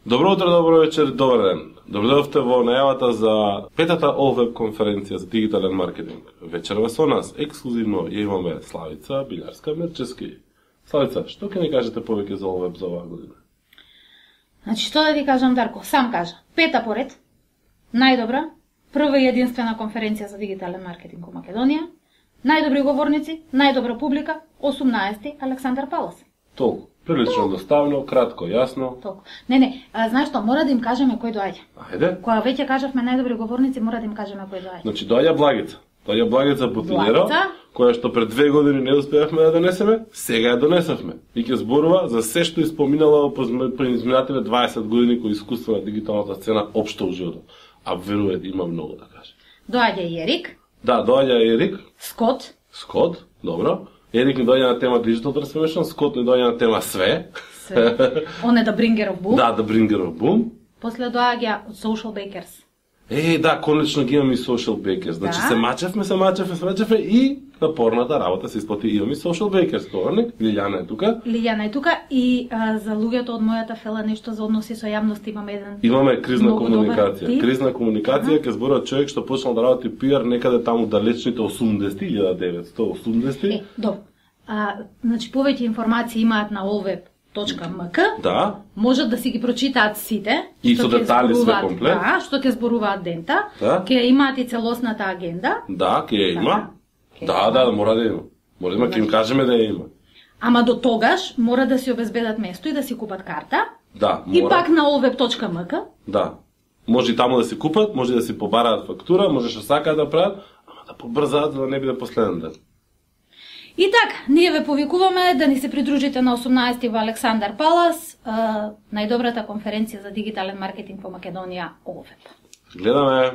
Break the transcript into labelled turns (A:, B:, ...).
A: Добро утро, добро вечер, добар ден. Добредовте во најавата за петата ОВЕБ конференција за дигитален маркетинг. Вечерва со нас ексклузивно ја имаме Славица Билјарска-Мерчевски. Славица, што ќе ни кажете повеќе за ОВЕБ за оваа година?
B: Значи, што да ти кажам, Дарко? Сам кажа. Пета поред, најдобра, прва и единствена конференција за дигитален маркетинг во Македонија, најдобри говорници, најдобра публика, 18 Александар Палас.
A: Толку. Прилично доставно, кратко, јасно.
B: Толку. Не, знаеш што, мора да им кажеме кој доаѓа.
A: Ајде.
B: Кога веќе кажавме најдобри говорници, мора да им кажеме кој доаѓа.
A: Значи, доаѓа Благица. Доаѓа Благица Бутинера, која што пред 2 години не успеавме да донесеме, сега ја донесавме. И ќе зборува за се што испоминала по изминативе 20 години кои искуство на дигиталната сцена општо во животот. А веруе, има многу да каже.
B: Доаѓа и Ерик.
A: Да, доаѓа Ерик.
B: Скот,
A: добро. Ерик ни доаѓа на тема Digital Transformation, Скот ни доаѓа на тема све.
B: Он е the bringer of boom.
A: Да, the bringer of boom.
B: После доаѓа од Social Bakers.
A: Да, конечно ги имаме и Social Bakers. Значи се мачевме и напорната работа се исплати. Имаме и Social Bakers, товарник. Лилјана е тука
B: и за луѓето од мојата фела нешто за односи со јавност имаме еден.
A: Имаме кризна комуникација. Кризна комуникација ќе зборува човек што почнал да работи PR некаде таму далечните 80-ти, 1980-ти.
B: Добро. Значи повеќе информации имаат на olweb.mk.
A: Да.
B: Можат да си ги прочитаат сите.
A: И со детали све комплет.
B: Да, што ќе зборуваат дента.
A: Да.
B: Ќе имаат и целосната агенда.
A: Да, ќе има. Да, мора да има. Може да им кажеме да ја има.
B: Ама до тогаш мора да си обезбедат место и да си купат карта.
A: Да, мора.
B: И пак на olweb.mk.
A: Да. Може и таму да си купат, може да си побараат фактура, може што сакаат да прават, ама да побрзаат за да не биде последен ден.
B: И така, ние ве повикуваме да ни се придружите на 18 во Александар Палас, најдобрата конференција за дигитален маркетинг во Македонија, ОВЕБ.
A: Гледаме.